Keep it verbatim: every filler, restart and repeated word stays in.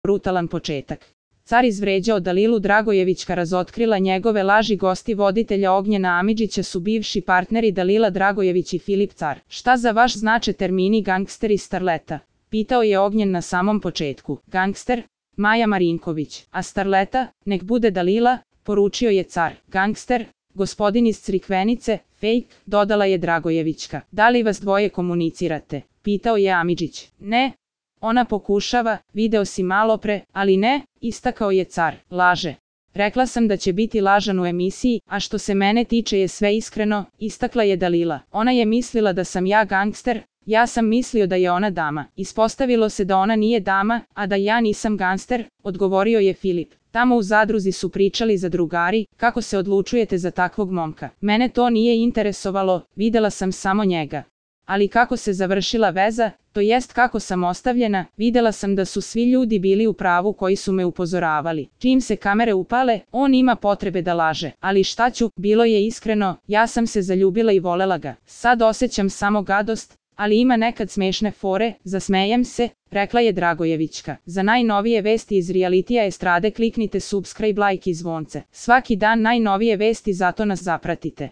brutalan početak. Car izvređao Dalilu Dragojevićka, razotkrila njegove laži. Gosti voditelja Ognjena Amidžića su bivši partneri Dalila Dragojević i Filip Car. Šta za vas znače termini gangster i starleta? Pitao je Ognjen na samom početku. Gangster? Maja Marinković. A starleta? Nek bude Dalila, poručio je Car. Gangster? Gospodin iz Crikvenice, fake, dodala je Dragojevićka. Da li vas dvoje komunicirate? Pitao je Amidžić. Ne. Ona pokušava, video si malopre, ali ne, istakao je Car. Laže. Rekla sam da će biti lažan u emisiji, a što se mene tiče je sve iskreno, istakla je Dalila. Ona je mislila da sam ja gangster, ja sam mislio da je ona dama. Ispostavilo se da ona nije dama, a da ja nisam gangster, odgovorio je Filip. Tamo u zadruzi su pričali zadrugari, kako se odlučujete za takvog momka. Mene to nije interesovalo, videla sam samo njega. Ali kako se završila veza, to jest kako sam ostavljena, videla sam da su svi ljudi bili u pravu koji su me upozoravali. Čim se kamere upale, on ima potrebe da laže. Ali šta ću, bilo je iskreno, ja sam se zaljubila i volela ga. Sad osjećam samo gadost, ali ima nekad smešne fore, zasmejem se, rekla je Dragojevićka. Za najnovije vesti iz realitija estrade kliknite subscribe, like i zvonce. Svaki dan najnovije vesti, zato nas zapratite.